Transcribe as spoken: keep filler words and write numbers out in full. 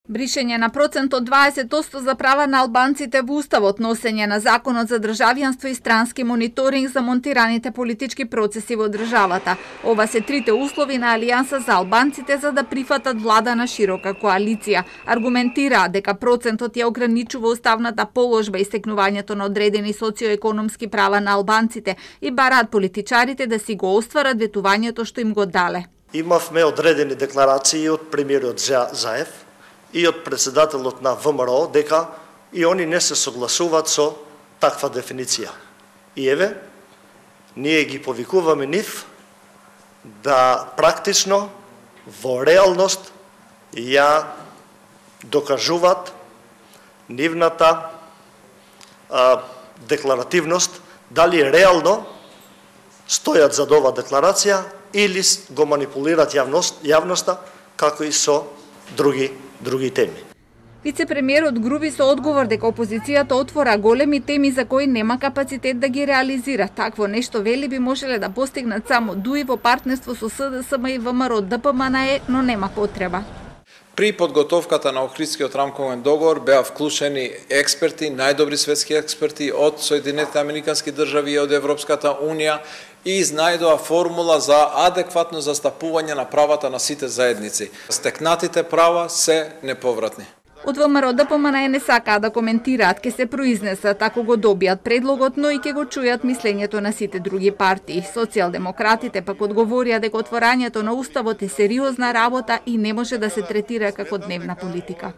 Бришење на процент од дваесет одсто за права на албанците во Уставот, носење на Законот за државјанство и странски мониторинг за монтираните политички процеси во државата. Ова се трите услови на Алијанса за албанците за да прифатат влада на широка коалиција. Аргументираа дека процентот ја ограничува уставната положба и стекнувањето на одредени социоекономски права на албанците и бараат политичарите да си го остварат ветувањето што им го дале. Имавме одредени декларации од премиерот Заев и од председателот на ВМРО дека и они не се согласуваат со таква дефиниција. И еве, ние ги повикуваме нив да практично, во реалност, ја докажуваат нивната а, декларативност, дали реално стојат за ова декларација или го манипулираат јавност, јавноста, како и со други други теми. Вице-премиерот груби со одговор дека опозицијата отвора големи теми за кои нема капацитет да ги реализира. Такво нешто, вели, би можеле да постигнат само ДУИ во партнерство со СДСМ и ВМРО ДПМНЕ, но нема потреба. При подготовката на Охридскиот рамковен договор беа вклучени експерти, најдобри светски експерти од Соединетите Американски држави и од Европската унија и изнајдоа формула за адекватно застапување на правата на сите заедници. Стекнатите права се неповратни. Од ВМРО ДПМНЕ не сакаа да коментираат, ке се произнесат ако го добијат предлогот, но и ке го чујат мислењето на сите други партии. Социјалдемократите пак одговорија дека отворањето на Уставот е сериозна работа и не може да се третира како дневна политика.